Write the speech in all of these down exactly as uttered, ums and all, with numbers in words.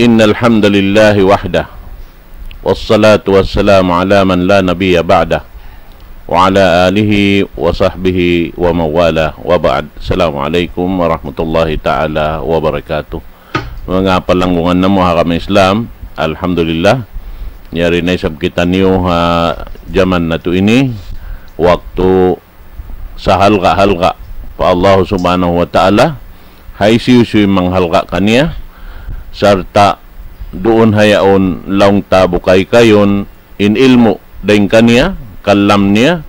إن الحمد لله وحده، والصلاة والسلام على من لا نبي بعده، وعلى آله وصحبه ومن والاه، وبعد. السلام عليكم ورحمة الله تعالى وبركاته. Manga palanggungan namu' ha agama Islam, alhamdulillah, yari na isab kitaniyu ha jaman natu' ini, waktu sahalga'-halga' pa Allah Subhanahu wa Ta'ala, ha hisiyu-siyu in manghalga' kaniya, sarta' duun ha yaun laung ta bukaykayun in ilmu' dayn kaniya, kalam niya,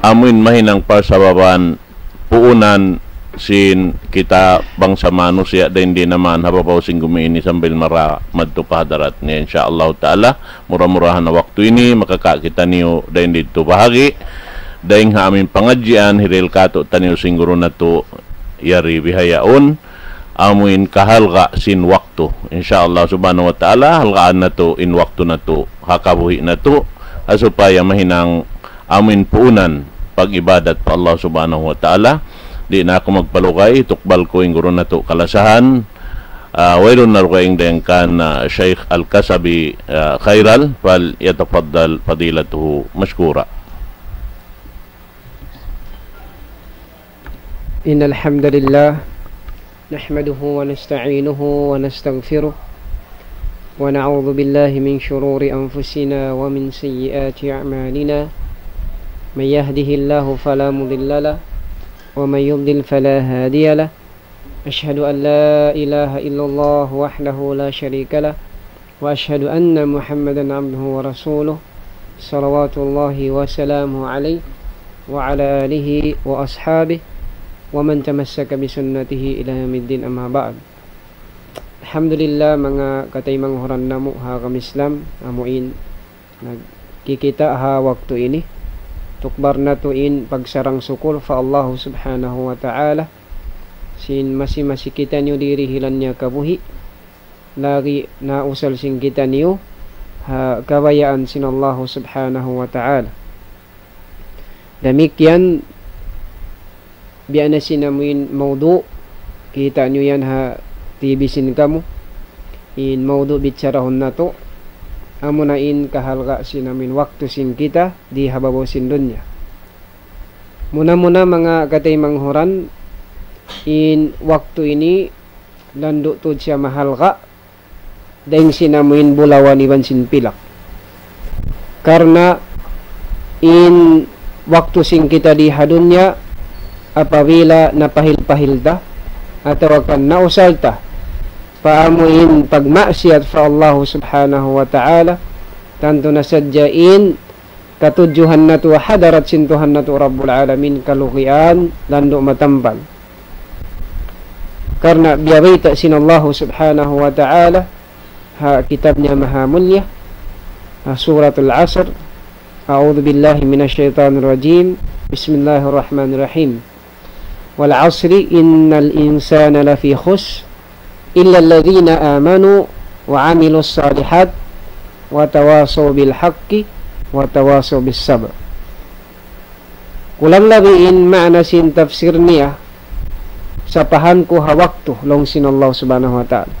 amuin mahinang parsababan puunan sin kita bangsa manusiya' dayn di naman ha babaw sin gumi ini sambil mara madtu pa hadarat niya, insya Allah Ta'ala. Mura-murahan ha waktu ini makaka' kitaniyu dayn didtu bahagi' dayn ha amin pangadjian hirihil kātu'niyu sin guru natu' yari bihaun, amuin kahalga' sin waktu. Insya Allah Subhanahu wa Ta'ala, halgaan natu' in waktu natu' ha kabuhi' natu', ha supaya mahinang amuin puunan pag-ibadat pa Allah Subhanahu wa Ta'ala. Di' na aku magpalugay, tukbal ku in guru natu' kalasahan. Ah, wayruun na dugaing dayn kan, ah, Shaykh Al-Kasabi, ah, Khairal, فليتفضل فضيلته مشكورا. إن الحمد لله نحمده ونستعينه ونستغفره ونعوذ بالله من شرور أنفسنا ومن سيئات أعمالنا. من يهده الله فلا مضل له ومن يضلل فلا هادي له. أشهد أن لا إله إلا الله وحده لا شريك له وأشهد أن محمدا عبده ورسوله صلوات الله وسلامه عليه وعلى آله وأصحابه ومن تمسك بسنته إلى يوم الدين، أما بعد. Alhamdulillah, manga kataymanghuran namu' ha agama Islam, amuin nagkikita' ha waktu ini. Tukbal natu' in pagsarang-sukul pa Allah Subhanahu wa Ta'ala sin masi-masi kitaniyu dirihilan niya kabuhi', lagi' nausal sin kitaniyu ha kabayaan sin Allah Subhanahu wa Ta'ala. Damikkiyan, biya' na sin amuin mawdu', kita' niyu yan ha T V sin kamu. In mawdu' bicharahun natu', amuna in kahalga' sin amuin waktu sin kita di ha babaw sin dunya. Muna-muna manga kataymanghuran, in waktu ini landu' tuud siya mahalga', dayn sin amuin bulawan iban sin pilak. Karna' in waktu sin kita di ha dunya, apabila napahil-pahil ta, atawa kan nausal ta, pa amuin pagmaksiyat pa Allah Subhanahu wa Ta'ala, tantu na sadja in katudjuhan natu' hadarat sin Tuhan natu' Rabbul Alamin kalugian landu' matampal. Karna' biya' bayta' sin Allah Subhanahu wa Ta'ala ha kitab niya maha mulliya, ha Suratul Asr, أعوذ بالله من الشيطان الرجيم. بسم الله الرحمن الرحيم. والعصر إن الإنسان لفي خسر إلا الذين آمنوا وعملوا الصالحات وتواصوا بالحق وتواصوا بالصبر. Kulang labi in maana sin tafsir niya, sapahan ku ha waktu, laung sin Allah Subhanahu wa Ta'ala.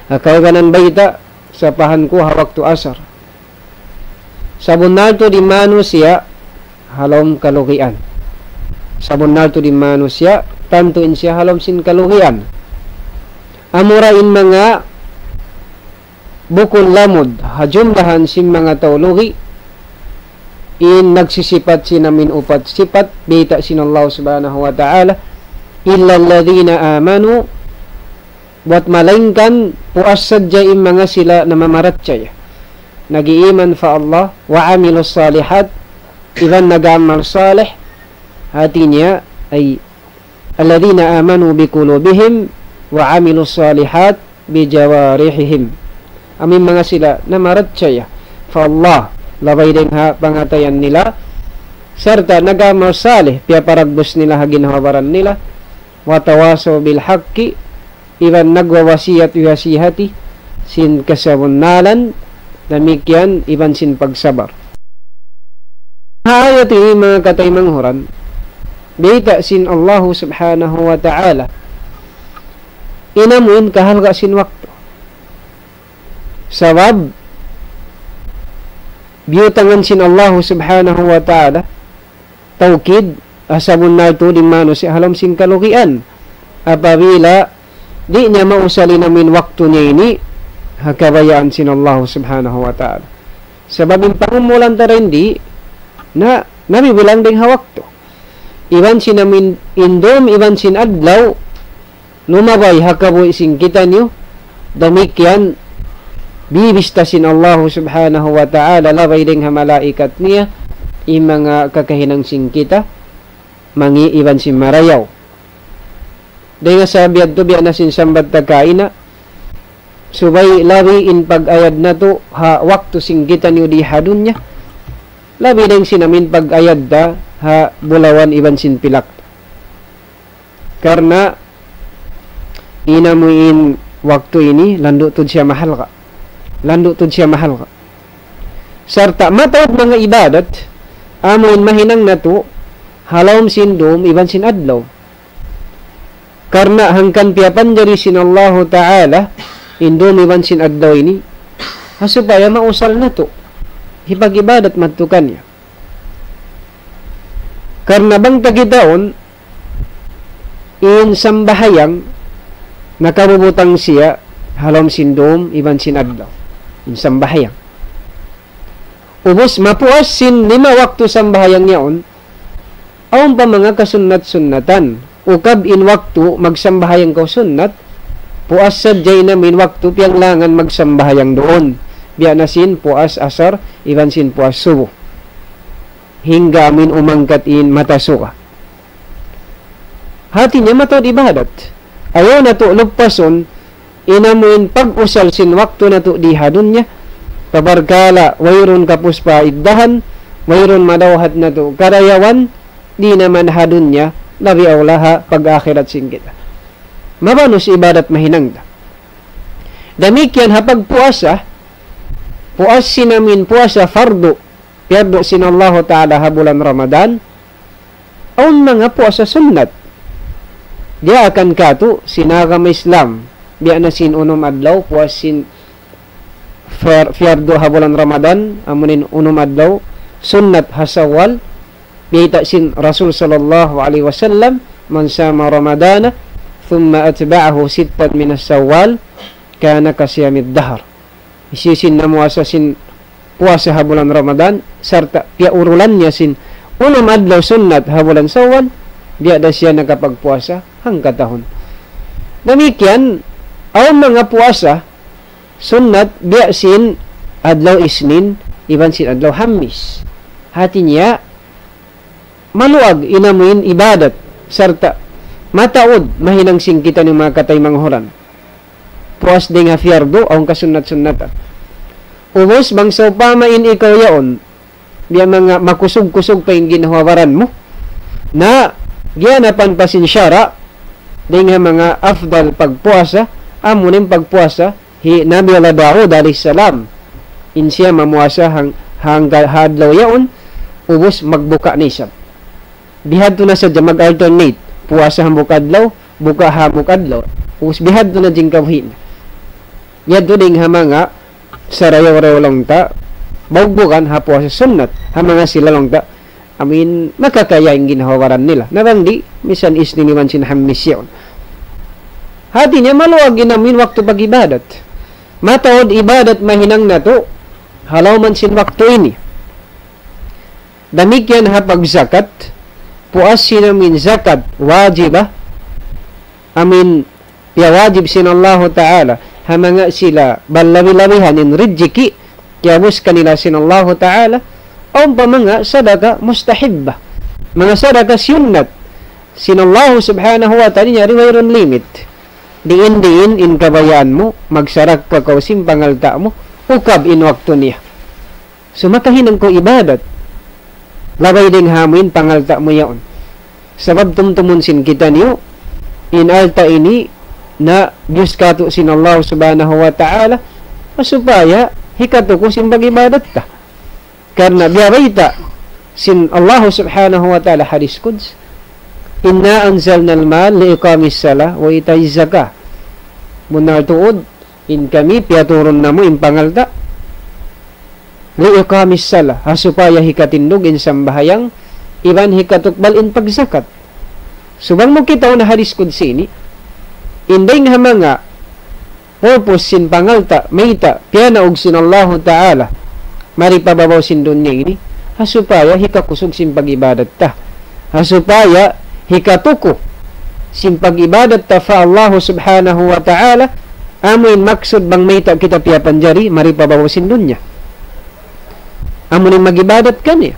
Ha kaibanan bayta', sapahan ku ha waktu asar. Sabunnal tuud in manusiya' ha lawm kalugian. Sabunnal tuud in manusiya', tantu in siya ha lawm sin kalugian. Amura in manga bukun lamud ha jumlahan sin manga tau lugi', in nagsisipat sin amuin upat sipat, bayta' sin Allah Subhanahu wa Ta'ala, إلا الذين آمنوا, buwat malaingkan puas sadja in manga sila namamarachaya, nag-iiman pa Allah, وعملوا الصالحات, iban nag-amal salih, hati niya ay الذين آمنوا بقلوبهم وعملوا الصالحات بجوارحهم. Amuin manga sila namarachaya pa Allah, labay dayn ha pangatayan nila, sarta' nag-amal salih, piyaparagbus nila ha ginhawa-baran nila, وتواصوا بالحق, iban nagwawasiyat-wasiyati sin kasabunnalan, damikkiyan iban sin pagsabar. Ha ayat ini, manga kataymanghuran, bayta' sin Allahu Subhanahu wa Ta'ala in amuin kahalga' sin waktu. Sabab, biyutangan sin Allah subhanahu wa ta'ala, tawkid, ha sabunnal tuud in manusiya' ha lawm sin kalugian. Apabila di' niya mausal in amuin waktu niya ini, ha kabayaan sin Allah subhanahu wa ta'ala. Sabab in pangumulan ta dayn di, na, nabibilang dayn ha waktu. Iban sin amuin indum, iban sin adlaw, lumabay ha kabuhi' sin kitaniyu, damikkiyan bibista sin Allah subhanahu wa ta'ala, labay dayn ha malaikat niya, in manga kakahinang sin kita, mangi' iban sin marayaw. Dayn ha sabab yadtu biya' na sin sambat ta kaina, subay labi in pag-ayad natu' ha waktu sin kitaniyu di ha dunya, labi dayn sin amuin pag-ayad ta ha bulawan iban sin pilak. Karna' in amuin waktu ini, landu' tuud siya mahalga'. Landu' tuud siya mahalga'. Sarta' mataud manga ibadat, amuin mahinang natu', ha lawm sin dum, iban sin adlaw. Karna' hangkan piyapanjari sin Allahu ta'ala, in dum iban sin adlaw ini, ha supaya mausal natu', hipag-ibadat madtu kaniya. Karna' bang ta kitaun, in sambahayang, nakabubutang siya, ha lawm sin dum, iban sin adlaw. In sambahayang. Ubus mapuas sin lima waktu sambahayang yaun, awn pa manga kasunnat-sunnatan. Ukab in waktu magsambahayang kaw sunnat, puas sadja in amuin waktu piyanglangan magsambahayang duun. Biya' na sin puas asar, iban sin puas subuh. Hangga amuin umangkat in mata suga. Hati niya mataud ibadat. Ayaw natu' lupasun, in amuin pag-usal sin waktu natu' di ha dunya, pabarkala' wayruun kapuspaiddahan, wayruun madawhat natu' karayawan, di' na man ha dunya, labi awla ha pag-akhirat sin kita. Mabanus ibadat mahinang ta. Damikkiyan ha pagpuasa, puas sin amuin puasa fardu, piyardu sin Allahu ta'ala ha bulan Ramadan, awn manga puasa sunnat. Diyaakan katu' sin agama Islam, biya' na sin unum adlaw, puas sin far-, piyardu ha bulan Ramadan, amuin unum adlaw, sunnat ha Sawwal, biyayta' sin Rasul sallallahu alayhi wasallam, من صام رمضان ثم أتبعه ستا من شوال كان كصيام الدهر. Hisiyu-siyu in namuasa sin puasa ha bulan Ramadan, sarta' piyaurulan niya sin unum adlaw sunnat ha bulan Sawwal, biya' da siya nakapagpuasa hangkatahun. Damikkiyan, awn manga puasa sunnat biya' sin adlaw Isnin, iban sin adlaw Hamis. Hati niya, maluag in amuin ibadat, sarta' mataud mahinang sin kitaniyu manga kataymanghuran. Puas dayn ha piyardu, awn kasunnat-sunnatan. Ubus, bang sawpama in ikaw yaun, biya' manga makusug-kusug pa in ginhawa-baran mu, na giyanapan pa sin sara', dayn ha manga afdal pagpuasa, amu in pagpuasa, hi Nabi Allah Daud alayhi salam, in siya mamuasa hang-, hangga ha adlaw yaun, ubus magbuka na isab. Bihadtu na sadja mag-alternate. Puasa hambuuk adlaw, buka hambuuk adlaw. Ubus bihadtu na jingkabuhi' niya. Yadtu dayn ha manga sarayaw-rayaw laung ta, bawgbugan ha puasa sunnat, ha manga sila laung ta, amuin makakaya in ginhawa-baran nila. Na bang di', misan Isnin iban sin Hamis yaun. Hati niya maluag in amuin waktu pag-ibadat. Mataud ibadat mahinang natu', ha lawm sin waktu ini. Damikkiyan ha pagzakat, puas sin amuin zakat wajibah, amuin piyawajib sin Allahu Ta'ala, ha manga sila balabi-labihan in rijiki', kiyabus kanila sin Allahu Ta'ala, awn pa manga sadaka mustahibbah, manga sadaka sunnat, sin Allahu Subhanahu wa Ta'ala, yari wayruun limit. Diin-diin in kabayaan mu, magsarakka kaw sin pangalta' mu, ukab in waktu niya. So, makahinang kaw ibadat. Labay dayn ha amuin pangalta' mu yaun. Sabab tumtumun sin kitaniyu, in alta' ini na biyus katu' sin Allah Subhanahu wa Ta'ala, supaya hikatuku sin pag-ibadat ta. Karna' biya' bayta' sin Allah Subhanahu wa Ta'ala hadis Quds, إنا أنزلنا المال لإقام الصلاة وإيتاء الزكاة. Bunnal tuud, In kami piyaturun namu' in pangalta', لإقام الصلاة, ha supaya hikatindug in sambahayang, iban hikatukbal in pagzakat. So bang mu kitaun ha hadis qudsi ini, in dayng ha manga purpose sin pangalta', mayta' piyanaug sin Allahu Ta'ala mari pa babaw sin dunya ini, ha supaya hikakusug sin pag-ibadat ta, ha supaya hikatuku sin pag-ibadat ta pa Allahu Subhanahu wa Ta'ala. Amu in maksud bang mayta' kita piyapanjari mari pa babaw sin dunya, amu in mag-ibadat kaniya.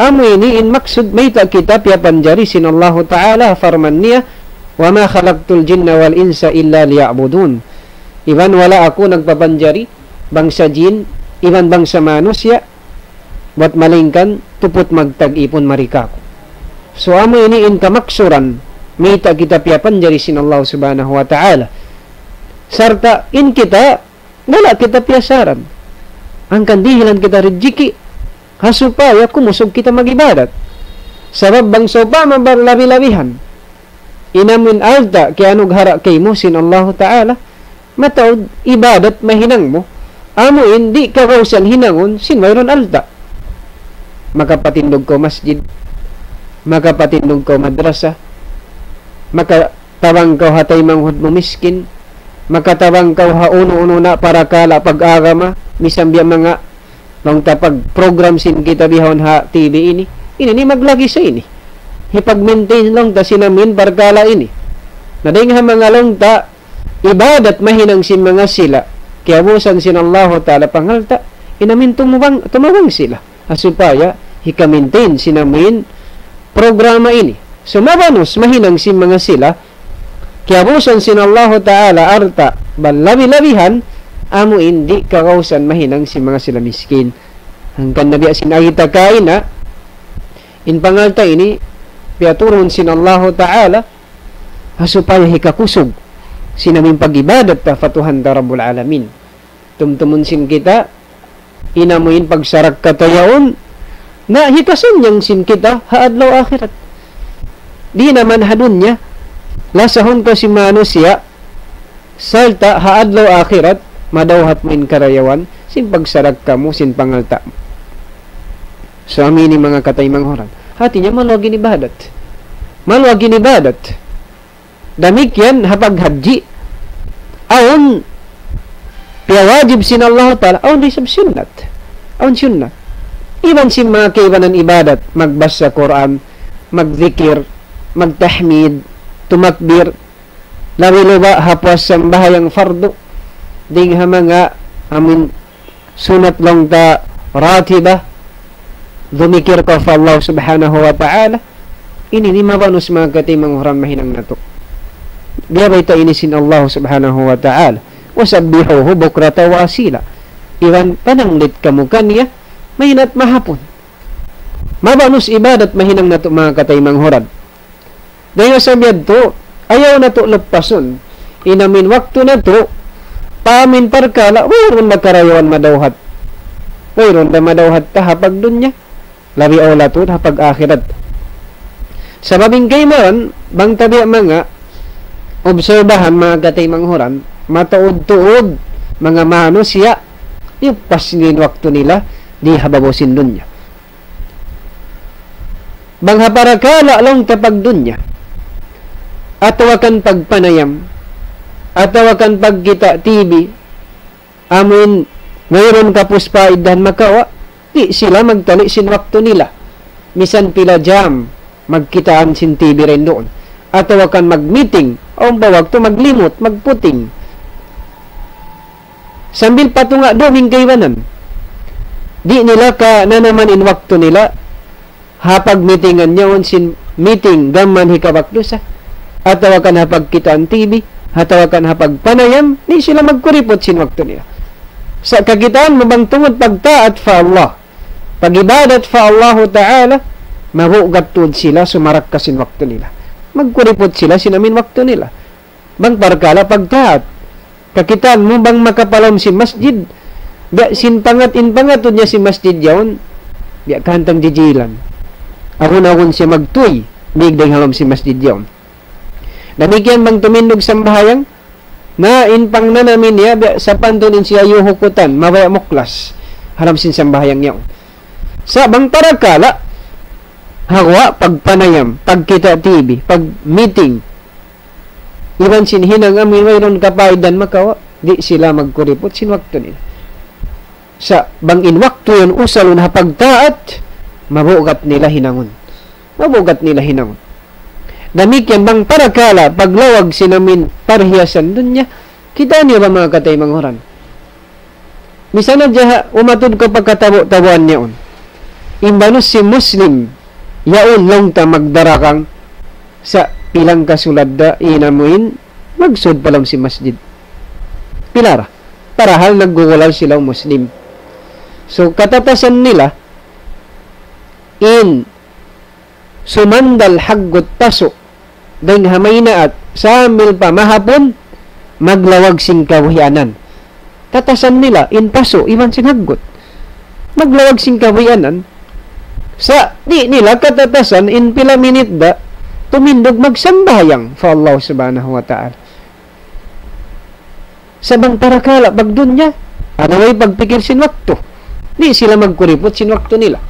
Amu ini in maksud mayta' kita piyapanjari sin Allahu Ta'ala, parman niya, وما خلقت الجن والإنس إلا ليعبدون. Iban wala' aku nagpapanjari bangsa jin iban bangsa manusiya' bat malaingkan tuput magtag-ipun mari kāku'. So amu ini in kamaksuran mayta' kita piyapanjari sin Allah Subhanahu wa Ta'ala. Sarta' in kita, wala' kita piyasaran. Hangkan dihilan kita rijiki', ha supaya kumusug kita mag-ibadat. Sabab bang sawpama barlabi-labihan in amun alta' kiyanughara' kaymu sin Allahu Ta'ala, mataud ibadat mahinang mu, amu in di' kagausan hinangun sin wayruun alta'. Makapatindug kaw masjid, makapatindug kaw madrasa, makatabang kaw ha taymanghud mu miskin, makatabang kaw ha unu-unu na parakala' pag-agama, misan biya' manga laung ta pag-program sin kita bihaun ha T V ini. Ini ini maglagi sa ini. Hipag-maintain laung ta sin amin parkala' ini. Na dayng ha manga laung ta ibadat mahinang sin manga sila, kiyabusan sin Allahu Ta'ala pangalta', in amin tumubang, tumabang sila. Ha supaya hika-maintain sin amin programa ini. So mabanus mahinang sin manga sila, kiyabusan sin Allahu Ta'ala alta', bat labi-labihan, amu in di' kagausan mahinang sin manga sila miskin. Hangkan na biya' sin agi ta kaina, in pangalta' ini, piyaturun sin Allahu Ta'ala, ha supaya hikakusug sin amin pag-ibadat ta pa Tuhan ta Rabbul Alamin. Tumtumun sin kita, in amu in pagsarakka ta yaun, na hikasannyang sin kita ha adlaw akhirat. Di' na man ha dunya, lasahun kaw sin manusiya', sarta' ha adlaw akhirat, madawhat mu in karayawan sin pagsarakka mu, sin pangalta' mu. So amu ini manga kataymanghuran. Hati niya maluag in ibadat. Maluag in ibadat. Damikkiyan ha paghajji, awn piyawajib sin Allahu Ta'ala, awn da isab sunnat. Awn sunnat. Iban sin manga kaibanan ibadat, magbasa Qur'an, magdikir, magtahmid, tumakbir, labi-labi ha puas sambahayang fardu, dayng ha manga amun sunat laung ta ratiba, dumikir kaw pa Allah Subhanahu wa Ta'ala. Ini ini mabanus manga kataymanghuran mahinang natu'. Biya' bayta' ini sin Allah Subhanahu wa Ta'ala. وسبحوه بكرة وأصيلا. Iban pananglit kamu kaniya, mahina't mahapun. Mabanus ibadat mahinang natu' manga kataymanghuran. Dayng ha sabab yadtu, ayaw natu' luppasun in amin waktu natu', pa amin parkala', wayruun da karayawan madawhat. Wayruun da madawhat ta ha pagdunya, labi awla tuud ha pag-akhirat. Sabab in kaibanan, bang ta biya' manga obserbahan manga kataymanghuran, mataud-tuud manga manusiya', iyuppas nila in waktu nila, di ha babaw sin dunya. Bang ha parakala' laung ta pagdunya, atawa kan pagpanayam, atawa kan pagkita' T V, amun wayruun kapus pa iddahan makawa', di' sila magtali' sin waktu nila. Misan pila jam, magkitaan sin T V dayn duun. Atawa kan mag-meeting, awn pa waktu maglimut, magputing. Sambil patunga' dum in kaibanan. Di' nila kananaman in waktu nila, ha pagmitingan yaun sin meeting gam mayan hikabak dusa, atawa kan ha pagkitaan T V, atawa kan ha pagpanayam, di' sila magkuriput sin waktu nila. Sa' kakitaan mu bang tungud pagtaat pa Allah, pag-ibadat pa Allahu Ta'ala, mabugat tuud sila sumarakka sin waktu nila. Magkuriput sila sin amin waktu nila. Bang parkala' pagtaat. Kakitaan mu bang makapalawm sin masjid, biya' sin pangat, in pangatud niya sin masjid yaun, biya' kahantang jijilan. Agun-agun siya magtuy, mig dayn ha lawm sin masjid yaun. Damikkiyan bang tumindug sambahayang, Na in pangnanamin niya, biya' sapantun in siya yuhukutan, mabaya' muklas ha lawm sin sambahayang yaun. Sa' bang parakala', ha guwa' pagpanayam, pagkita' T V, pag-meeting, iban sin hinang amu in wayruun kapaidan makawa', di' sila magkuriput sin waktu nila. Sa' bang in waktu yan usalun ha pagtaat, mabugat nila hinangun. Mabugat nila hinangun. Damikkiyan bang parakala' paglawag sin amu in parhiyasan dunya, kitaa niyu ba manga kataymanghuran? Misan na jaha umatud kaw pa katabu'-tabuan yaun. In banus sin Muslim, yaun laung ta magdarakang sa' pilang kasulad da in amu in magsud pa lawm sin masjid. Pila ra. Parahal naggugulal sila Muslim. So, katatasan nila, in sumandal haggut pasu', dayn ha maynaat, sambil pa mahapun, maglawag sin kabuhianan. Tatasan nila, in pasu', iban sin haggut. Maglawag sin kabuhianan, sa' di' nila katatasan, in pila minit da, tumindug magsambahayang pa Allah Subhanahu wa Ta'ala. Sa' bang parakala' pagdunya, awn way pagpikil sin waktu. Di' sila magkuriput sin waktu nila.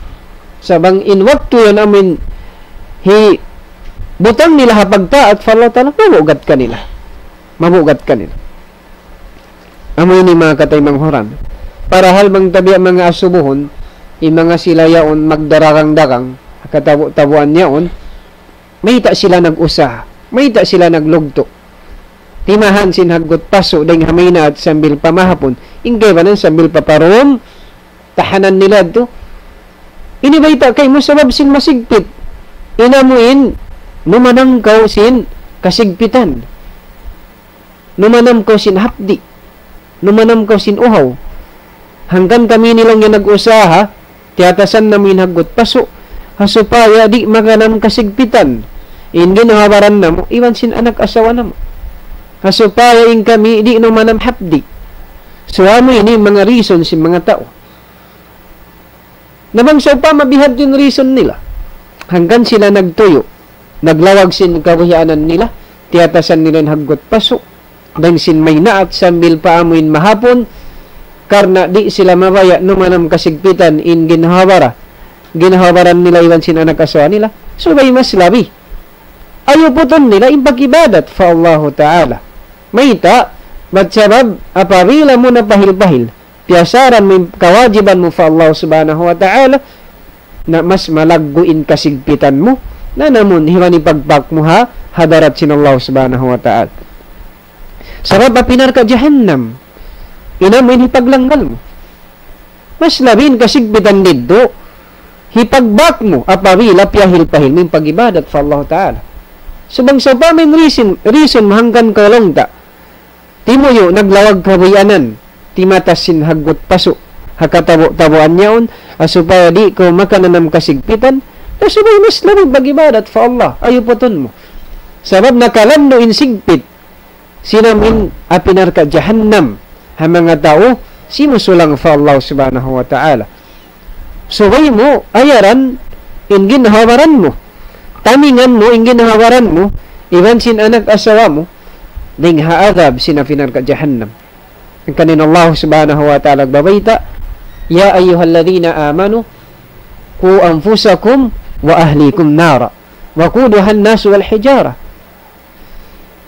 Sa' bang in waktu yan amu in hibutang nila ha pagtaat pa Allah Ta'ala, mabugat kanila. Mabugat kanila. Amu ini manga kataymanghuran. Parahal bang ta biya' manga asubuhun, in manga sila yaun magdarakang-darakang, ha katabu'-tabuan yaun, mayta' sila nag-usaha, mayta' sila naglugtu'. Timahan sin haggut pasu' dayn ha maynaat sambil pa mahapun. In kaibanan sambil pa parum, tahanan nila tu. Ini bayta' kaymu sabab sin masigpit. In amu in, numanam kaw sin kasigpitan. Numanam kaw sin hapdi'. Numanam kaw sin uhaw. Hangkan kami ini laung niya nag-usaha, tiyatasan namu' in haggut pasu', ha supaya di' makanam kasigpitan in ginhawa-baran namu', iban sin anak asawa namu'. Ha supaya in kami di' numanam hapdi'. So, amu ini manga reason sin manga tau. Na bang sawpama bihadtu in reason nila. Hangkan sila nagtuyu', naglawag sin kabuhianan nila, tiyatasan nila in haggut pasu', dayn sin maynaat sambil pa amu in mahapun, karna' di' sila mabaya' numanam kasigpitan in ginhawa-bara, ginhawa-baran nila iban sin anak asawa nila, subay mas labi. Ayuputun nila in pag-ibadat pa Allahu Ta'ala. Mayta', bat sabab, apabila mu na pahil-pahil, piyasaran mu in kawajiban mu pa Allah Subhanahu wa Ta'ala, na mas malaggu' in kasigpitan mu, na namun hiwan in pagbak mu ha hadarat sin Allah Subhanahu wa Ta'ala. Sabab api narka' jahannam, in amu in hipaglanggal mu. Mas labi in kasigpitan didtu, hipagbak mu, apabila piyahil-pahil mu in pag-ibadat pa Allah Ta'ala. So bang sawpama in reason, reason mu hangkan kaw laung ta, timuyu' naglawag kabuhianan, timatas sin haggut pasu', ha katabu'-tabuan yaun, ha supaya di' kaw makananam kasigpitan, na subay mas labi pag-ibadat pa Allah, ayuputun mu. Sabab nakalandu' in sigpit, sin amu in api narka' jahannam, ha manga tau, simusulang pa Allah Subhanahu wa Ta'ala. Subay mu, ayaran, in ginhawa-baran mu. Tamingan mu, in ginhawa-baran mu, iban sin anak asawa mu, dayn ha adab sin api narka' jahannam. Hangkan in Allah Subhanahu wa Ta'ala nagbabayta', يا أيها الذين آمنوا قوا أنفسكم وأهليكم نارا وقودها الناس والحجارة.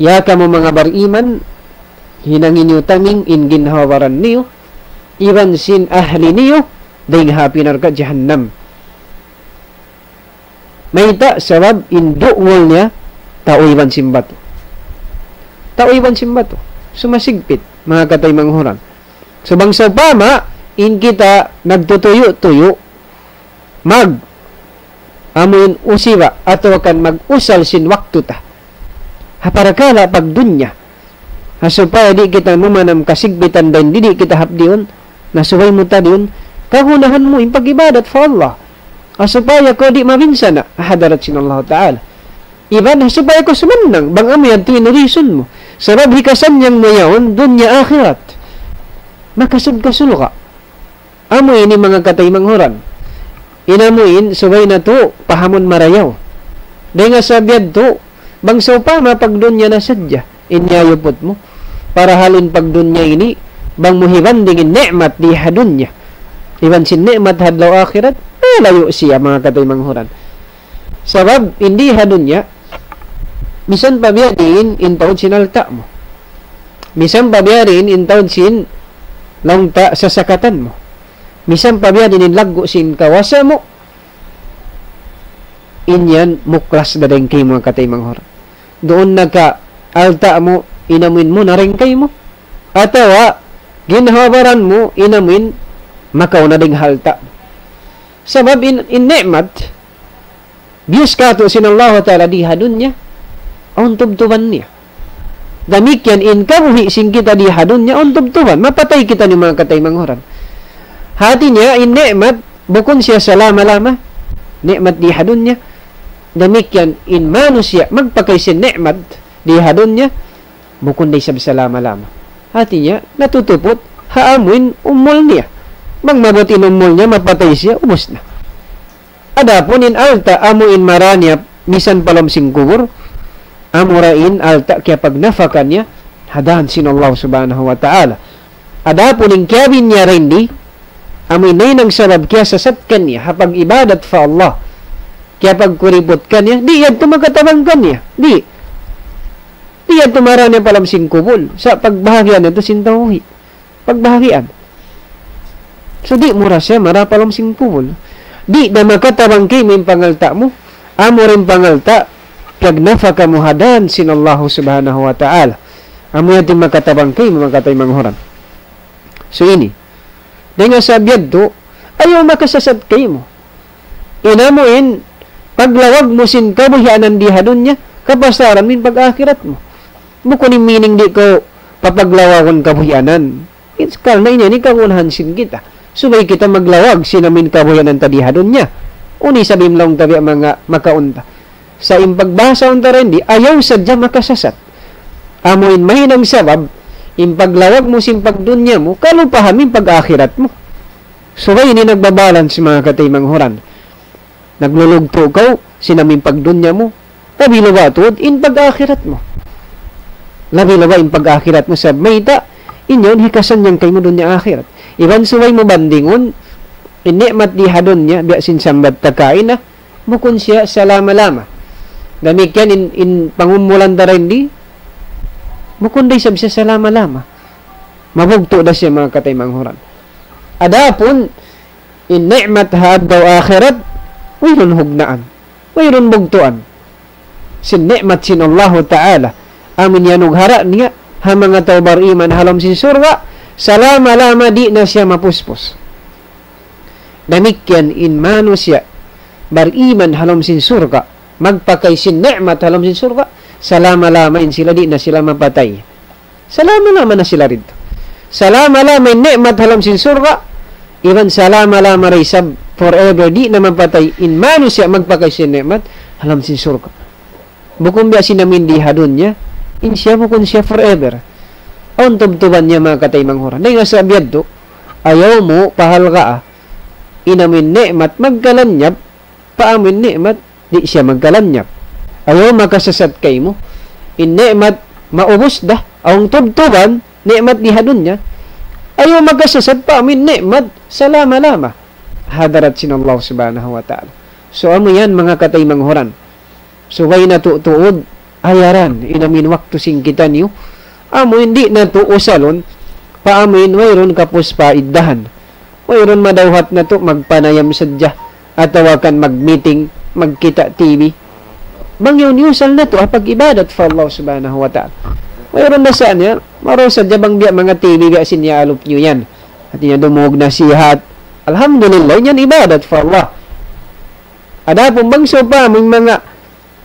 Ya kamu manga bariman, hinangi niyu taming in ginhawa-baran niyu, iban sin ahli niyu, dayn ha api narka' jahannam. Mayta', sabab in du'ngul niya, tau iban sin batu. Tau iban sin batu. Sumasigpit, manga kataymanghuran. So bang sawpama, in kita nagtutuyu'-tuyu', mag, amu in usiba, atawa kan mag-usal sin waktu ta. Ha parakala' pagdunya. Ha supaya di' kita numanam kasigpitan dayn di' kita hapdiun, na subay mu tadiun, kagunahan mu in pag-ibadat pa Allah. Ha supaya kaw di' mabinsana', ha hadarat sin Allah Ta'ala. Iban ha supaya kaw sumannang, bang amu yadtu in reason mu. Sabab hikasannyang mu yaun, dunya akhirat. Makasud kaw surga'. Amu ini manga kataymanghuran. In amu in, subay natu', pahamun marayaw. Dayn ha sabab yadtu, bang sawpama pagdunya na sadja, in iyayuput mu. Parahal in pagdunya ini, bang mu hibanding in ni'mat di ha dunya iban sin ni'mat ha adlaw akhirat, malayu' siya, manga kataymanghuran. Sabab, in di ha dunya, misan pa biya' diin in taud sin alta' mu. Misan pa biya' diin in taud sin laung ta sasakatan mu. Misan pa biya' diin in laggu' sin kawasa mu, in yan muklas da dayn kaymu, manga kataymanghuran. Duun na ka alta' mu, in amuin muna dayn kaymu. Atawa, ginhawa-baran mu, in amuin makauna dayn ha alta'. Sabab in, in ni'mat, biyus katu' sin Allah Ta'ala di ha dunya, awn tubtuban niya. Damikkiyan in kabuhi' sin kita di ha dunya, awn tubtuban, mapatay kita ini, manga kataymanghuran. Hati niya, in ni'mat, bukun siya salama-lama, ni'mat di ha dunya. Damikkiyan in manusiya', magpakay sin ni'mat di ha dunya, bukun da isab salama-lama. Hati niya, natutuput, ha amuin umul niya. Bang maabut in umul niya, mapatay siya, ubus na. Adapun in alta' amu in mara niya misan pa lawm sin kubul, amura in alta' kiyapagnafaka niya ha dan sin Allah Subhanahu wa Ta'ala. Adapun in kiyabin niya dindi, amu in nahinang sabab kiyasasat kaniya ha pag-ibadat pa Allah, kiyapagkuriput kaniya, di' yadtu makatabang kaniya. Di'. Di' yadtu mara niya pa lawm sin kubul. Sa' pagbahagian yadtu sin tawhid. Pagbahagian. So, di' mu ra siya mara pa lawm sin kubul. Di' da makatabang kaymu in pangalta' mu, amura in pangalta', piyagnafaka mu ha dan sin Allah Subhanahu wa Ta'ala. Amu yan in makatabang kaymu, manga kataymanghuran. So, ini. Dayn ha sabab yadtu, ayaw makasasat kaymu. In amuin, paglawag mu sin kabuhianan di ha dunya, kapasaran mu in pag-akhirat mu. Bukun in meaning di' kaw papaglawagun kabuhianan. It's karna' in yan in kagunahan sin kita. Subay kita maglawag sin amuin kabuhianan ta di ha dunya. Unu isab in laung ta biya' manga makaun ta. Sa' in pagbahasa unta dindi, ayaw sadja makasasat. Amu in mahinang sabab, in paglawag mu sin pagdunya mu, kalupahan mu in pag-akhirat mu. Subay ini nagbabalance, manga kataymanghuran. Naglulugtu' kaw sin amuin pagdunya mu, labi-labi tuud in pag-akhirat mu. Labi-labi in pag-akhirat mu, sabab mayta', in yan hikasannyang kaymu dunya akhirat. Iban subay mu bandingun, in ni'mat di ha dunya, biya' sin sambat ta kaina, bukun siya salama-lama. Damikkiyan in, in pangumulan ta dindi, bukun da isab siya salama-lama. Mabugtu' da siya, manga kataymanghuran. Adapun, in ni'mat ha adlaw akhirat, wayruun hugnaan. Wayruun bugtuan. Sin ni'mat sin Allahu Ta'ala. Amu in iyanughara' niya, ha manga tau bariman ha lawm sin surga', salama-lama di' na siya mapuspus. Damikkiyan in manusiya' bariman ha lawm sin surga', magpakay sin ni'mat ha lawm sin surga', salama-lama in sila di' na sila mapatay. Salama-lama na sila didtu. Salama-lama in ni'mat ha lawm sin surga', iban salama-lama da isab forever di' na mapatay in manusiya' magpakay sin ni'mat ha lawm sin surga'. Bukun biya' sin amuin di ha dunya, in siya bukun siya forever. Awn tubtuban niya, manga kataymanghuran. Dayn ha sabab yadtu, ayaw mu pahalgaa in amuin ni'mat magkalanyap pa amuin ni'mat di' siya magkalanyap. Ayaw makasasat kaymu. In ni'mat maubus da, awn tubtuban, ni'mat di ha dunya. Ayaw makasasat pa amuin ni'mat salama-lama ha hadarat sin Allah Subhanahu wa Ta'ala. So, amu yan, manga kataymanghuran. Subay natu' tuud ayaran in amuin waktu sin kitaniyu. Amuin di' natu' usalun pa amuin wayruun kapus pa iddahan. Wayruun madawhat natu' magpanayam sadja atawa kan mag-meeting, magkita' T V. Bang yaun iyusal natu' ha pag-ibadat pa Allah Subhanahu wa Ta'ala. Wayruun na sa niya, marayaw sadja bang biya' manga T V biya' sin iyaalup niyu yan. Hati niya dumungug nasihat. Alhamdulillah, yan ibadat pa Allah. Adapun bang sawpama in manga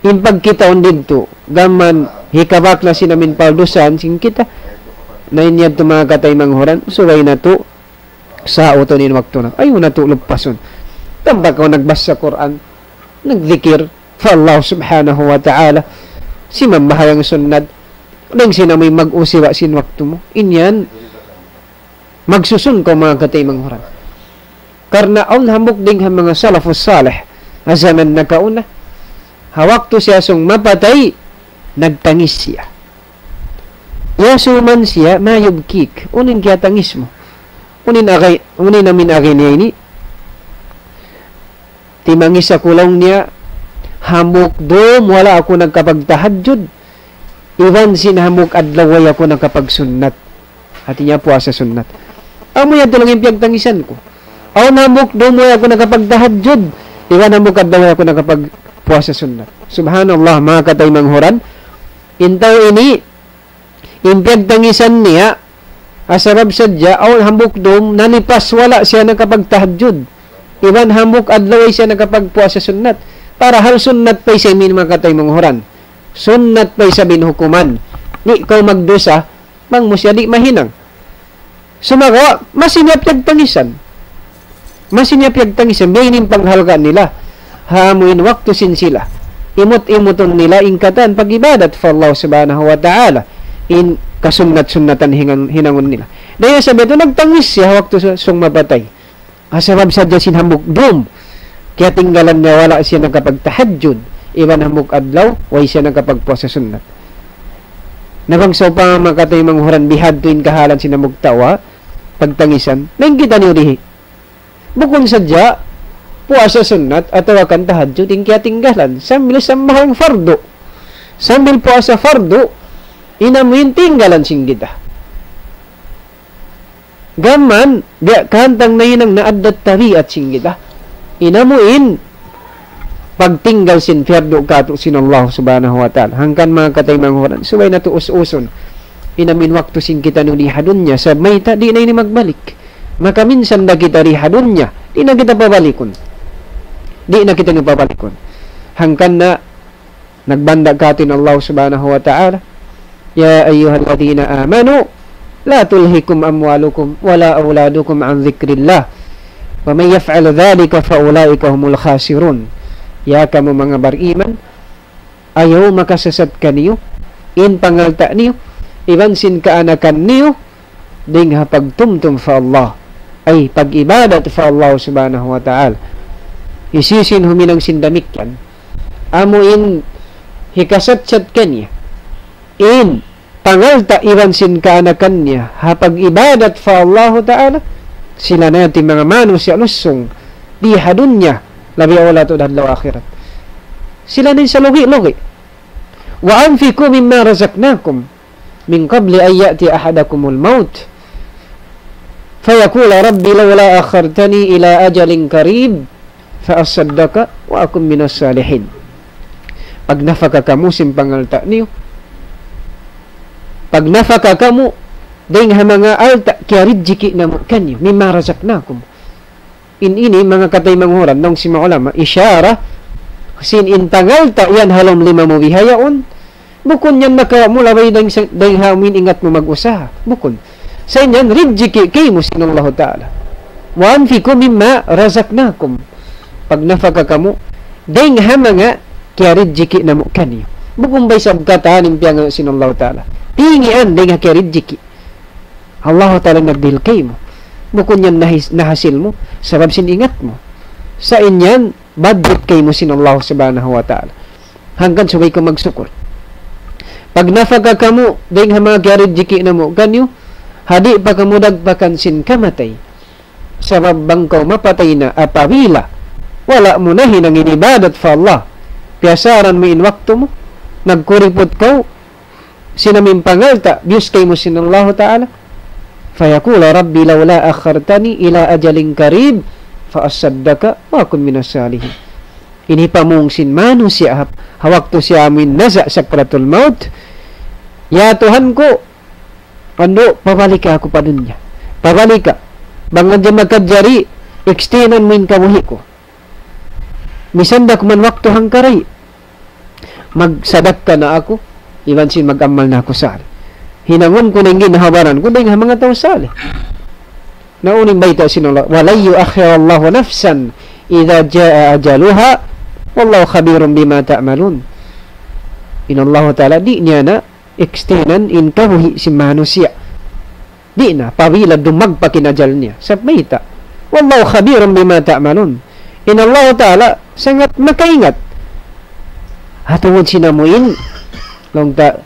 in pagkitaun didtu, gam mayan hikabak na sin amuin paldusahan sin kita, na in yadtu, manga kataymanghuran, subay natu' sautun in waktu na. Ayaw natu' lupasun. Tampak kaw nagbasa Qur'an, nagdikir pa Allah Subhanahu wa Ta'ala, simambahayang sunnat, dayn sin amuin mag-usiba sin waktu mu. In yan, magsusun kaw, manga kataymanghuran. Karna' awn hambuuk dayn ha manga salafus salih, ha jaman nakauna, ha waktu siya sung mapatay, nagtangis siya. Yasuman siya, ma yubkik. Unu in kiyatangis mu. Unu in agay, unu in amin agay niya ini. Timangis aku laung niya, hambuuk dum wala' aku nagkapagtahajjud, iban sin hambuuk adlaw way aku nakapagsunnat. Hati niya puasa sunnat. Amu yan tuud in piyagtangisan ku. Awn hambuuk dum way aku nakapagtahajjud, iban hambuuk adlaw way aku nakapagpuasa sunnat. Subhanallah, manga kataymanghuran. In tau ini, in piyagtangisan niya, ha sabab sadja, awn hambuuk dum, nalipas wala' siya nakapagtahajjud. Iban hambuuk adlaw way siya nakapagpuasa sunnat. Parahal sunnat pa isab in, manga kataymanghuran. Sunnat pa isab in hukuman. Di' kaw magdusa, bang mu siya di' mahinang. Sumagawa', masi niya piyagtangisan. Masi niya piyagtangisan, biya' ini in panghalga' nila. Ha amu in waktu sin sila. Imut-imutun nila in katan pag-ibadat pa Allah Subhanahu wa Ta'ala. In kasunnat-sunnatan hingan-, hinangun nila. Dayn ha sabab yadtu nagtangis siya waktu su-, sung mapatay. Ha sabab sadja sin hambuuk dum. Kiyatinggalan niya wala' siya nakapagtahajjud. Iban hambuuk adlaw, way siya nakapagpuasa sunnat. Na bang sawpama, manga kataymanghuran, bihadtu in kahalan sin hambuuk tau, pagtangisan. Laung kita niyu dihi. Bukun sadja, puasa sunnat atawa kan tahajjud in kiyatinggalan. Sambil sambahayang fardu. Sambil puasa fardu, in amu in tinggalan sin kita. Gam mayan, biya' kahantang nahinang na addat tabiat sin kita. In amu in pagtinggal sin piyardu kātu' sin Allah Subhanahu wa Ta'ala. Hangkan manga kataymanghuran, subay natu' us-usun. In amu in waktu sin kitaniyu di ha dunya, sabab mayta' di' na ini magbalik. Makaminsan da kita di ha dunya, di' na kita pabalikun. Di' na kitaniyu pabalikun. Hangkan na nagbanda' kātu' in Allah Subhanahu wa Ta'ala, يا أيها الذين آمنوا لا تلهكم أموالكم ولا أولادكم عن ذكر الله ومن يفعل ذلك فأولئك هم الخاسرون. Ya kamu manga bariman, ayaw makasasat kaniyu in pangalta' niyu, iban sin kaanakan niyu, dayn ha pagtumtum pa Allah, ay pag-ibadat pa Allah Subhanahu wa Ta'ala. Hisiyu-siyu in huminang sin damikkiyan, amu in hikasatsat kaniya in pangalta' iban sin kaanakan niya ha pag-ibadat pa Allahu Ta'ala, sila na yan in manga manusiya' lusung di ha dunya, labi awla tuud ha adlaw akhirat. Sila na in salugi'-lugi'. وأنفقوا مما رزقناكم من قبل أن يأتي أحدكم الموت فيقول رب لولا أخرتني إلى أجل قريب فأصدق وأكن من الصالحين. Pagnafaka kamu sin pangalta' niyu. Pagnafaka kamu dayn ha manga alta' kiyarijiki' namu' kaniyu, مما رزقناكم. In ini, manga kataymanghuran, laung sin manga ulama, isyara sin in pangalta' yan ha lawm lima mu bihaun, bukun yan makawa' mu labi dayn sa, dayn ha amu in ingat mu mag-usaha. Bukun. Sa' in yan, rijiki' kaymu sin Allahu Ta'ala. وأنفقوا مما رزقناكم. Pagnafaka kamu dayn ha manga kiyarijiki' namu' kaniyu. Bukun ba isab katan in piyangayuun sin Allahu Ta'ala. Tingian dayn ha kiyarijiki'. Allahu Ta'ala nagdihil kaymu. Bukun yan nahis-, nahasil mu, sabab sin ingat mu. Sa' in yan, budget kaymu sin Allah Subhanahu wa Ta'ala. Hangkan subay kaw magsukur. Pagnafaka kamu dayn ha manga kiyarijiki' namu' kaniyu, ha di' pa kamu dagpakan sin kamatay. Sabab bang kaw mapatay na apabila wala' mu nahinang in ibadat pa Allah, piyasaran mu in waktu mu, nagkuriput kaw, sin amu in pangalta', biyus kaymu sin Allahu Ta'ala. فيقول رب لولا أخرتني إلى أجل قريب فأصدق وأكن من الصالحين. Ini pamung sin manusiya' ha, ha waktu siya amu in naza' sakratul maut. Ya Tuhan ku, andu', pabalika aku pa dunya. Pabalika. Bang hadja makajari, extendan mu in kabuhi' ku. Misan da kuman waktu hangkaray, magsadakka na aku, iban sin mag-amal na aku salih. Hinangun ku na in ginhawa-baran ku dayn ha manga tau salih. Na unu in bayta' sin Allah, ولن يؤخر الله نفسا إذا جاء أجلها والله خبير بما تعملون. In Allahu Ta'ala di' niya na extendan in kabuhi' sin manusiya'. Di' na, apabila dumagpak in ajal niya. Sabab mayta'? والله خبير بما تعملون. In Allahu Ta'ala sangat makaingat ha tungud sin amu in, laung ta,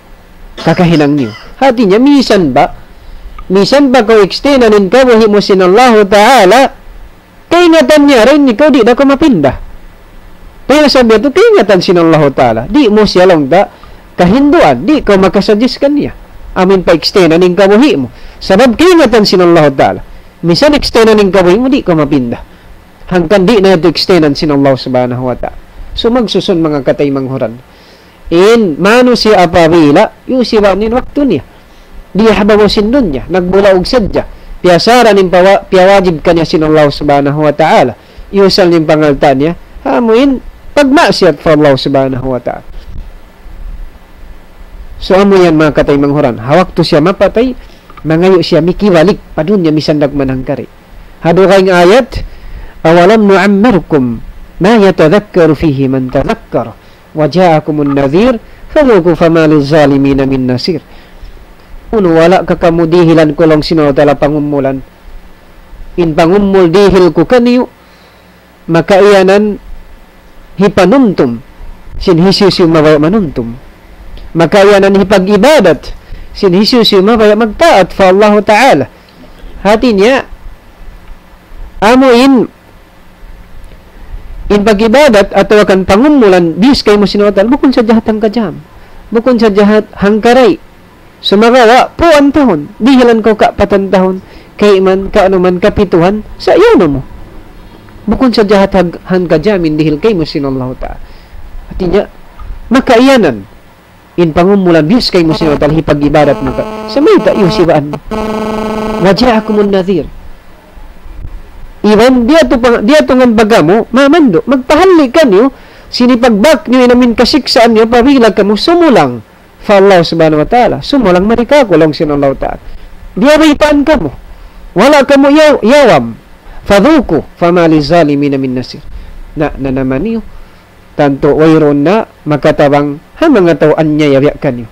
kakahinang niyu. Hati niya, misan ba, misan ba kaw extendan in kabuhi' mu sin Allahu Ta'ala, kaingatan niya ra in ikaw di' da kaw mapinda. Kaya sabab yadtu kaingatan sin Allahu Ta'ala. Di' mu siya laung ta kahinduan, di' kaw makasuggest kaniya. Amu in pa-extendan in kabuhi' mu. Sabab kaingatan sin Allahu Ta'ala. Misan extendan in kabuhi' mu, di' kaw mapinda. Hangkan di' na yadtu extendan sin Allah Subhanahu wa Ta'ala. So, magsusun manga kataymanghuran. In manusiya' apabila, yusiba' niya in waktu niya. Di' ha babaw sin dunya, nagbulaug sadja. Piyasaran in pawa-, piyawajib kaniya sin Allah Subhanahu wa Ta'ala. Iyusal niya in pangalta' niya, ha amu in pagmaksiyat pa Allah Subhanahu wa Ta'ala. So, amu yan manga kataymanghuran. Ha waktu siya mapatay, mangayu' siya mikibalik pa dunya misan da kuman hangkari'. Ha dugaing ayat, أولم نعمركم ما يتذكر فيه من تذكر وجاءكم النذير فذوقوا فما للظالمين من نصير. Unu, wala' ka kamu dihilan ku laung sin Allahu Ta'ala pangumulan. In pangumul dihil ku kaniyu, makaiyanan hipanumtum sin hisiyu-siyu mabaya' manumtum. Makaiyanan hipag-ibadat sin hisiyu-siyu mabaya' magtaat pa Allahu Ta'ala. Hati niya, amu in, in pag-ibadat atawa kan pangumulan, biyus kaymu sin Allahu Ta'ala, bukun sadja hat hangka jam. Bukun sadja hat hangkari'. Sumagawa', puan tahun, dihilan kaw kapatan tahun, kayman, kaanu man, kapituhan, sa' yaun na mu. Bukun sadja hat hag-, hangka jam in dihil kaymu sin Allahu Ta'ala. Hati niya, makaiyanan in pangumulan biyus kaymu sin Allahu Ta'ala hipag-ibadat mu ka. Sa' mayta' iyusibaan mu. وجاءكم النذير. Iban diyatu pa, diyatu ngan bagamu, mamandu', magpahalli' kaniyu, sin hipagbak niyu in amin kasiksaan niyu, apabila kamu sumulang pa Allah Subhanahu wa Ta'ala, sumulang mari kāku' laung sin Allahu Ta'ala. Diyabaytaan kamu. Wala' kamu yaw-, yawam. فذوقوا فما للظالمين من نصير. Na, nanama niyu. Tantu wayruun na makatabang ha manga tau anyaya biya' kaniyu.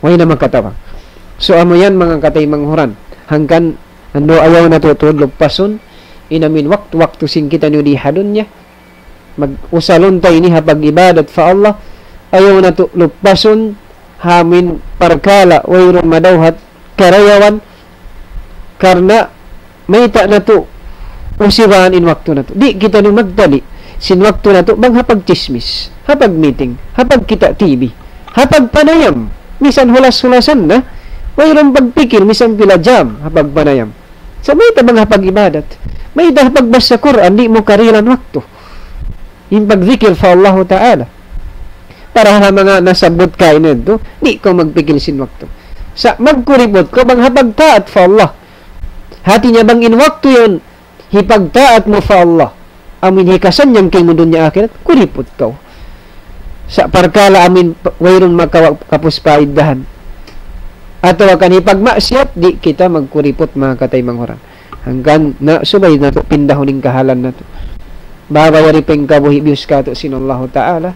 Way na makatabang. So, amu yan manga kataymanghuran. Hangkan, andu' ayaw natu' tuud lupasun, in amin waktu-waktu sin kitaniyu di ha dunya. Mag-, usalun ta ini ha pag-ibadat pa Allah. Ayaw natu' lupasun, ha amin parkala' wayruun madawhat karayawan, karna' mayta' natu' usibaan in waktu natu'. Di' kitaniyu magtali' sin waktu natu' bang ha pagchismis, ha pag-meeting, ha pagkita' T V, ha pagpanayam, misan hulas-hulasan na, wayruun pagpikil, misan pila jam, ha pagpanayam. Sa' mayta' bang ha pag-ibadat, mayta' ha pagbasa Qur'an, di' mu karihilan waktu. In pagdikir pa Allahu Ta'ala. Para ha manga nasabbut kaina yadtu, di' kaw magpikil sin waktu. Sa' magkuriput kaw bang ha pagtaat pa Allah. Hati niya bang in waktu yan, hipagtaat mu pa Allah. Amu in hikasannyang kaymu dunya akhirat, kuriput kaw. Sa' parkala' amu in pa-, wayruun makawa' kapus paiddahan. Atawa kan hipagmaksiyat, di' kita magkuriput manga kataymanghuran. Hangkan na subay natu' pindahun in kahalan natu'. Baba yari pa in kabuhi' biyus kātu' sin Allahu Ta'ala.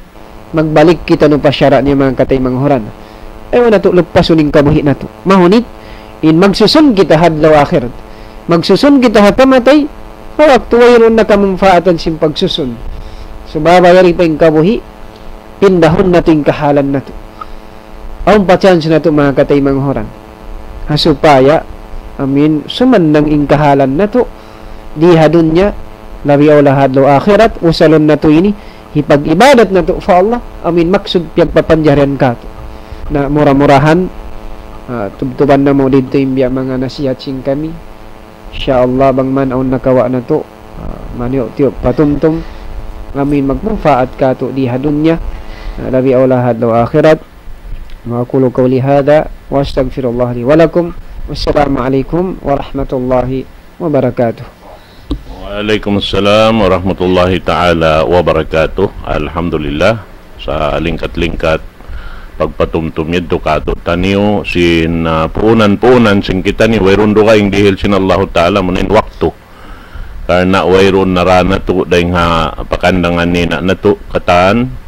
Magbalik kitaniyu pa sara' niya manga kataymanghuran. Ayaw natu' lupasun in kabuhi' natu'. Mahunit, in magsusun kita ha adlaw akhirat. Magsusun kita ha kamatay, ha waktu wayruun na kamunpaatan sin pagsusun. So baba yari pa in kabuhi', pindahun natu' in kahalan natu'. Awn pa chance natu' manga kataymanghuran. Ha supaya, amin, sumannang in kahalan natu', di ha dunya, labi awla ha adlaw akhirat, usalun natu' ini, hipag-ibadat natu' pa Allah, amin, maksud piyagpapanjarihan kātu'. Na mura-murahan, ah, tubtuban namu' didtu in biya' manga nasihat sin kami. Insya Allah, bang man awn nakawa' natu', ah, maniyu'-tiyu' patumtum, amin, magmunpaat kātu' di ha dunya, ah, labi awla ha adlaw akhirat. وأقول قولي هذا وأستغفر الله لي ولكم. والسلام عليكم ورحمة الله وبركاته. وعليكم السلام ورحمة الله تعالى وبركاته. Alhamdulillah, sa' lingkat-lingkat pagpatumtum yadtu kātu'niyu sin, ah, puunan-puunan sin kitaniyu, wayruun dugaing dihil sin Allahu Ta'ala, amu in waktu. Karna' wayruun na ra natu' dayng ha pakandangan nina' natu' katan.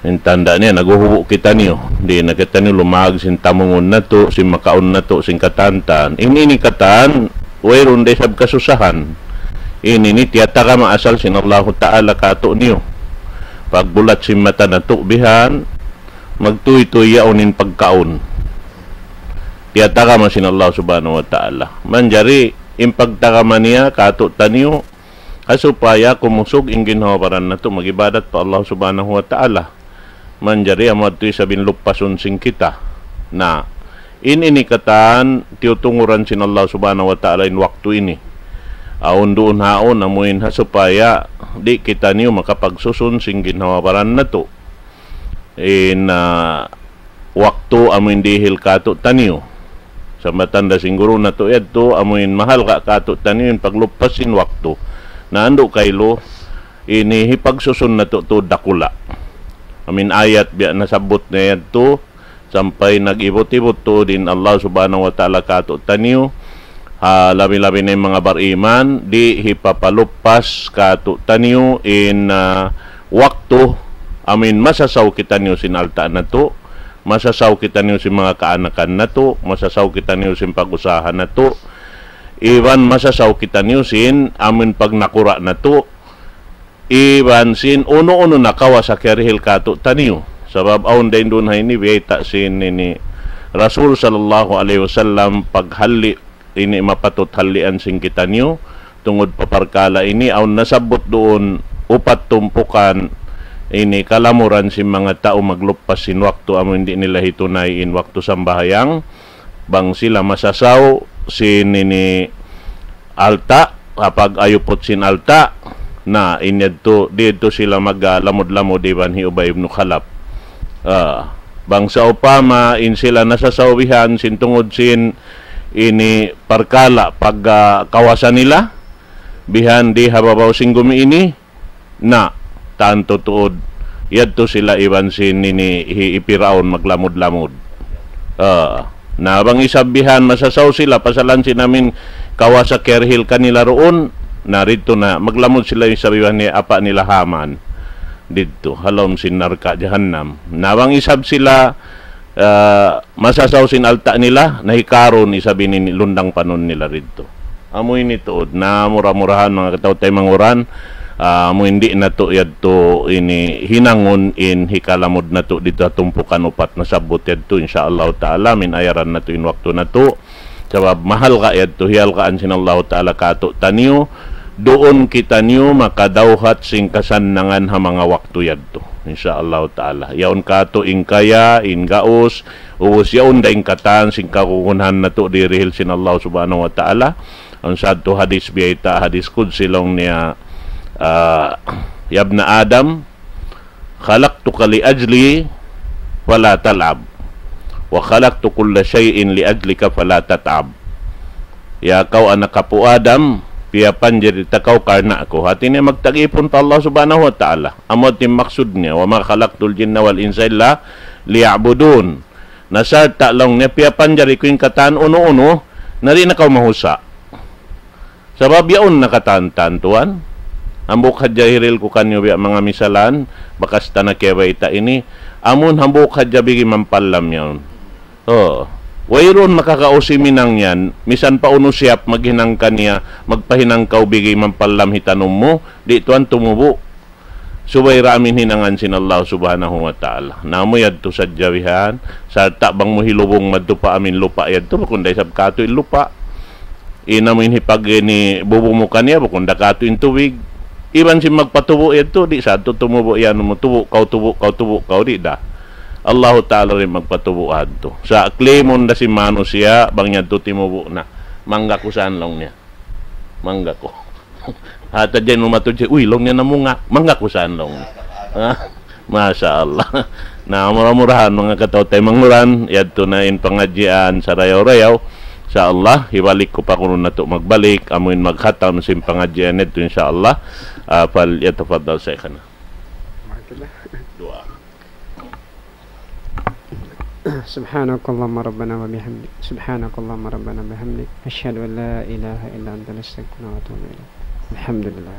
In tanda' niya, naghuhubu' kitaniyu. Di' na kitaniyu lumag sin tamungun natu', sin makaun natu', sin katan-katan. In ini katan, wayruun da isab kasusahan. In ini tiyatagama asal sin Allahu Ta'ala kātu'niyu. Pagbulat sin mata natu' bihan, magtūy-tūy yaun in pagkaun. Iyatagama sin Allah Subhanahu wa Ta'ala. Manjari, in pagtagama niya, kātu'niyu, ha supaya kumusug in ginhawa-baran natu' mag-ibadat pa Allah Subhanahu wa Ta'ala. Manjari amu yadtu isab in luppasun sin kita. Na, in ini katan tiyutunguran sin Allah Subhanahu wa Ta'ala in waktu ini. Awn duun haun amuin ha supaya di' kitaniyu makapagsusun sin ginhawa-baran natu'. In, ah, waktu amuin dihil kātu'niyu. Sambatan da sin guru natu' yadtu, amuin mahalga' kātu'niyu in pagluppas sin waktu. Na andu' kailu, ini hipagsusun natu' tuud dakula'. Amuin ayat biya' nasabbut niya yadtu, sampay nag-ibut-ibut tuud in Allah Subhanahu wa Ta'ala kātu'niyu, ha, labi-labi na in manga bariman, di' hipapaluppas kātu'niyu in, ah, waktu, amuin masasaw kitaniyu sin alta' natu', masasaw kitaniyu sin manga kaanakan natu', masasaw kitaniyu sin pag-usaha natu', iban masasaw kitaniyu sin amuin pagnakura' natu', iban sin unu-unu na kawasa kiyarihil kātu'niyu. Sabab awn dayn duun ha ini biyayta' sin ini Rasul sallallahu alayhi wasallam paghalli' ini mapatut hallian sin kitaniyu, tungud pa parkala' ini, awn nasabbut duun upat tumpukan ini kalamuran sin manga tau magluppas sin waktu amu in di' nila hitunay in waktu sambahayang, bang sila masasaw sin ini alta', kapag ayuput sin alta', na in yadtu, di' yadtu sila maglamud-lamud iban hi Ubay ibn Khalaf. Ah, bang sawpama in sila nasasaw bihan sin tungud sin ini parkala' pag, ah, kawasa nila, bihan di ha babaw sin gumi ini, na, tantu tuud, yadtu sila iban sin ini hi, hi Piraun maglamud-lamud. Ah, na bang isab bihan masasaw sila, pasalan sin amuin kawasa kiyarihil kanila duun, na didtu na, maglamud sila isab iban hi apa' nila Haman. Didtu, ha lawm sin narka' jahannam. Na bang isab sila, ah, masasaw sin alta' nila, na hi Karun isab ini lundang panun nila didtu. Amu ini tuud, na mura-murahan manga kataw-taymanghuran, ah, amu in di' natu' yadtu ini hinangun in hikalamud natu' didtu ha tumpukan upat nasabbut yadtu, insya Allah ta'ala, amuin ayaran natu' in waktu natu', sabab mahalga' yadtu, hiyalgaan sin Allah ta'ala kātu'niyu, duun kitaniyu makadawhat sin kasannangan ha manga waktu yadtu, insya Allah ta'ala. Yaun kātu' in kaya, in gaus, ubus yaun da in katan sin kagunahan natu' dihil sin Allah Subhanahu wa Ta'ala. Awn sadtu hadis biyayta', hadis qudsi laung niya, ah, "Ya ibna Adam, khalaqtuka li ajli fala tal'ab, wa khalaqtu kulla shay'in li ajlika fala tat'ab." Ya kaw anak apu' Adam, piyapanjari ta kaw karna' aku. Hāti niya magtag-ipun pa Allah Subhanahu wa Ta'ala. Amu in maksud niya, "Wa ma khalaqtul jinna wal insa illa liya'budun." Na sarta' laung niya piyapanjari ku in katan unu-unu, na di' na kaw mahusa'. Sabab yaun na katan-katan tuwan. Hambuuk hadja hirihil ku kaniyu biya' manga misalan, bakas ta na kiyabayta' ini. Amun hambuuk hadja bigi mampallam yaun. Oh. Wayruun makakausi minang yan, misan pa unu siyap maghinang kaniya, magpahinang kaw bigi mampallam hitanum mu, di' tuwan tumubu'. Subay da amu in hinangan sin Allah Subhanahu wa Ta'ala. Na amu yadtu sadja bihan, sarta' bang mu hilubung madtu pa amu in lupa' yadtu, bukun da isab kātu' in lupa'. In amu in hipag ini bubu mu kaniya, bukun da kātu' in tubig. Iban sin magpatubu' yadtu, di' sa yadtu tumubu' yan mu tubu', kaw tubu', kaw tubu', kaw di' da. Allahu Ta'ala da in magpatubu' hadtu. Sa' claim-un da sin manusiya', bang yadtu timubu' na. Mangga ku san laung niya. Mangga ku. Hata dyan umatu dyan, "Uy," laung niya, "namunga'." Mangga ku san laung niya. Ha? Masha Allah. Na, mura-murahan, manga kataw-taymanghuran, yadtu na in pangadjian sarayaw-rayaw. Insha Allah, hibalik ku pa kunu' natu' magbalik, amu in maghatam sin pangadjian yadtu, insha Allah. Ah, fal yatafaddal shaykhana. Duwaa. سبحانك اللهم ربنا وبحمدك، سبحانك اللهم ربنا وبحمدك، أشهد أن لا إله إلا أنت، نستغفرك ونتوب إليك. الحمد لله.